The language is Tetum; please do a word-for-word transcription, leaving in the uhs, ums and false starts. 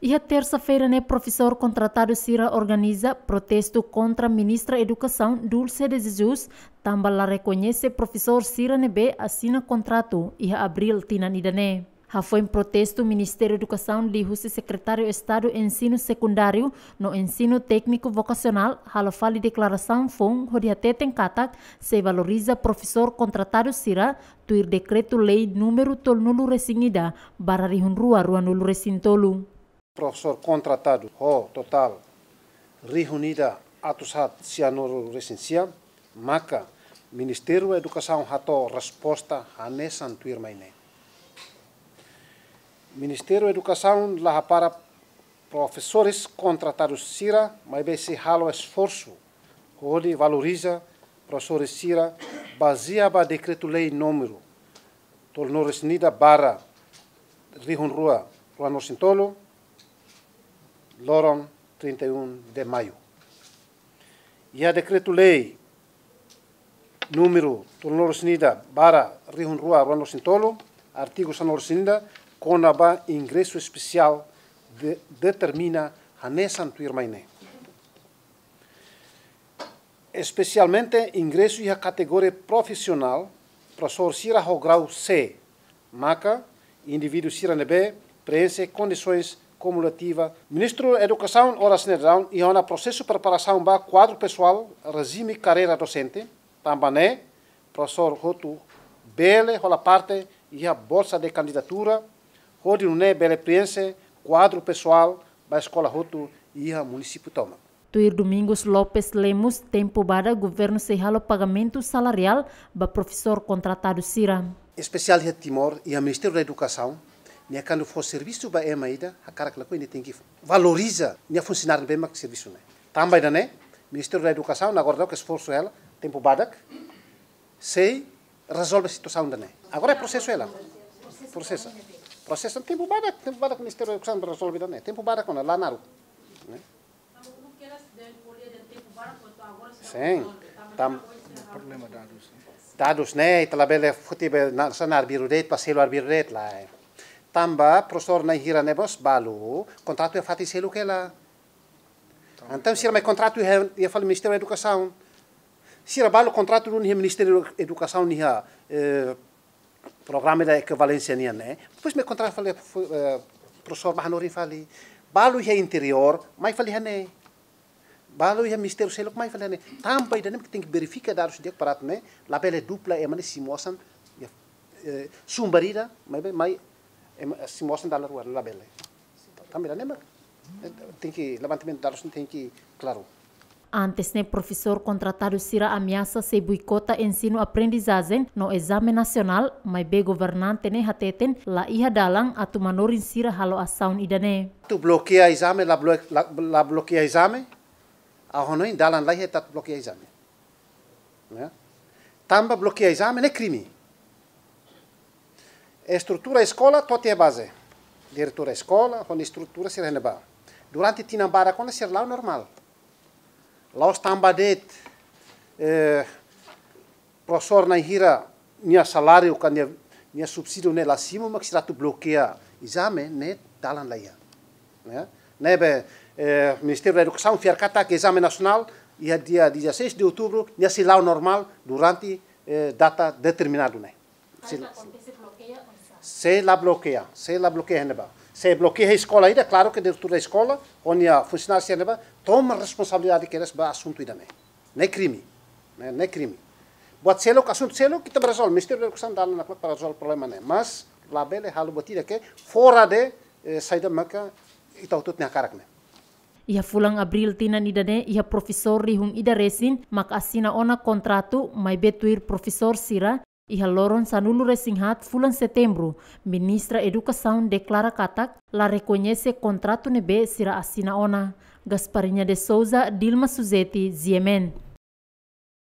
Iha tersa-feira ne'e, profesór kontratadu sira organiza protestu kontra Ministra Edukasaun Dulce de Jesus, tanba la rekoñese profesór sira ne'ebé asina kontratu iha abríl tinan ida-ne'e. Hafoin protestu, Ministériu Edukasaun liuhusi Sekretáriu Estadu Ensinu Sekundáriu no Ensinu Tékniku Vokasionál halo fali deklarasaun foun hodi hateten katak sei valoriza profesór kontratadu sira tuir Dekretu-Lei númeru tolunulu-resin-ida barra rihun rua ruanulu-resin-tolu. Profesór kontratadu ho totál rihun ida atus haat sianulu-resin-sia, maka Ministériu Edukasaun hato'o resposta hanesan tuirmai ne'e. Ministériu Edukasaun la hapara profesores kontratadu sira, maibé sei halo esforsu hodi valoriza profesores sira bazeia ba Dekretu-Lei númeru tolunulu-resin-ida barra rihun rua ruanulu-resin-tolu, loron trinta e um de maio. Iha Dekretu-Lei númeru tolunulu-resin-ida barra rihun rua ruanulu-resin-tolu, artigu sanulu-resin-ida, kona-ba ingresu espesiál de-, determina hanesan tuirmai ne'e. Espesialmente ingresu iha kategoria profisionál, profesór sira ho grau C, maka indivíduu sira ne'ebé preenxe kondisoens kumulativa. Ministru Edukasaun oras ne'e daudaun iha ona prosesu preparasaun ba kuadru pesoál rejime karreira dosente, tanba ne'e profesór hotu bele hola parte iha bolsa de kandidatura, hodi nune'e bele preenxe kuadru pesoál ba eskola hotu iha munisípiu tomak. Tuir Domingos Lopes Lemos, tempu badak governu sei halo pagamentu salariál ba profesór kontratadu sira. Espesiál iha Timor, iha Ministériu da Edukasaun, nia kuandu fó servisu ba ema ida, hakarak lakohi nia tenke valoriza nia funsionáriu ne'ebé mak servisu ne'e. Tanba ida-ne'e, Ministériu da Edukasaun agora daudaun esforsu hela, tempu badak, sei rezolve situasaun ida-ne'e. Agora é prosesu hela. Prosesu. Prosesu tempu badak, tempu badak Ministériu da Edukasaun rezolve ida-ne'e. Tempu badak ona, la naruk. Ne'e? Sin. Tan-, problema dadus. Dadus ne'e, ita labele foti be na, sa na arbiru de'it, pa selu arbiru de'it lae. Tanba profesór na'in hira ne'e mós balu, kontratu iha fatin seluk hela. Entaun sira mai kontratu iha, iha fali Ministériu Edukasaun. Sira balu kontratu duni iha Ministériu Edukasaun iha, eh, programa ida ekivalénsia nian ne'e. Depois mai kontratu fali, fu-, eh, profesór ba hanorin fali. Balu iha interiór, mai fali iha ne'e. Balu iha ministériu seluk mai fali iha ne'e. Tanba ida-ne'e tenke verifika dadus di'ak para atu ne'e, labele dupla ema ne'e simu osan, iha, eh, sumber ida, mai, mai, ema, simu osan dala rua, labele. Tanba ida-ne'e mak, eh, tenke, levantamentu dadus tenke klaru. Antes ne'e, profesór kontratadu sira ameasa sei boikota ensinu-aprendizajen no ezame nasionál, maibé governante ne'e hateten la iha dalan atu manorin sira halo asaun ida-ne'e. Atu blokeia ezame, la blo-, la, la blokeia ezame, ha'u hanoin dalan la iha atu blokeia ezame. Ya. Tanba blokeia ezame ne'e krime. Estrutura eskola to'o iha baze. Diretór eskola, ho nia estrutura sira iha ne'ebá. Durante tinan barak ona sira la'o normál. La'ós tanba de'it, eh, profesór na'in hira nia saláriu ka nia, nia subsídiu ne'e la simu mak sira atu blokeia ezame, ne'e dalan la iha. Ya. Ne'ebé, eh, Ministériu da Edukasaun fiar katak ezame nasionál iha dia dezasseis de outubro, nia sei la'o normál durante, eh, data determinadu ne'e. Se, se la blokeia, se la blokeia iha ne'ebá. Se blokeia eskola ida, klaru ke diretór da eskola, ho nia funsionáriu sira iha ne'ebá, toma responsabilidade kedas ba asuntu ida-ne'e. Ne'e krime. Ne'e, ne'e krime. Buat seluk, asuntu seluk, ita bá rezolve. Ministériu da Edukasaun dalan nakloke para rezolve problema ne'e. Mas, labele halo buat ida ke fora de, eh, saida maka ita hotu-hotu nia hakarak ne'e. Iha fulan abríl tinan ida-ne'e, iha profesór rihun ida resin mak asina ona kontratu, maibé tuir profesór sira, iha loron sanulu-resin-haat fulan setembru, Ministra Edukasaun deklara katak la rekoñese kontratu ne'ebé sira asina ona. Gasparinha de Souza, Dilma Suzeti, G M N.